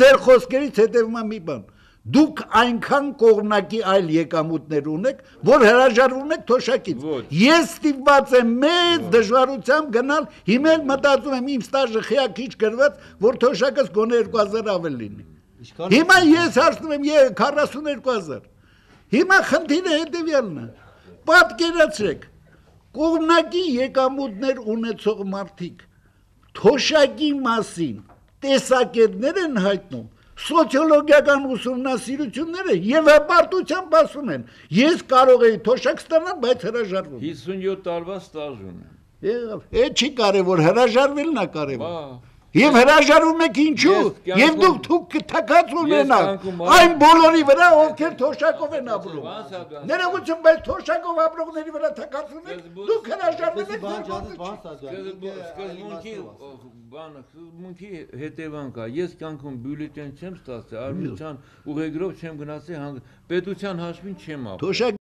ձեր խոսքերից հետևում է մի բան։ Դուք այնքան կողմնակի այլ եկամուտներ ունեք, որ հրաժարվում եք թոշակից։ Ես ստիպված եմ մեծ դժվարությամբ գնալ, հիմա էլ մտածում եմ իմ ստաժը խիակիչ գրված, որ թոշակս գոնե 2000 ավել լինի։ Հիմա ես հարցնում եմ 42000։ Հիմա խնդիրը հետևյալն է։ Պատկերացրեք, կողմնակի եկամուտներ ունեցող մարդիկ թոշակի մասին տեսակետներ են հայտնում, սոցիոլոգիական ուսումնասիրությունները եւ հպարտությամբ ասում են, ես կարող եի թոշակ ստանալ, բայց հրաժարվում։ 57 տարվա ստաժ ունեմ։ Այդ չի կարևոր, հրաժարվելն է կարևոր։ Եվ հրաժարվում եք ինչու, եւ դուք թակած ունենաք այն բոլորի վրա, ովքեր թոշակով են ապրում։ Ներողություն, բայց թոշակով ապրողների վրա թակածում եք, դուք հրաժարվում եք Սկզբունքի հետևանք է, ես կյանքում բյուլետեն չեմ ստացել, արմության ուղեգրով չեմ գնացել, պետության հաշվին չեմ ապրել։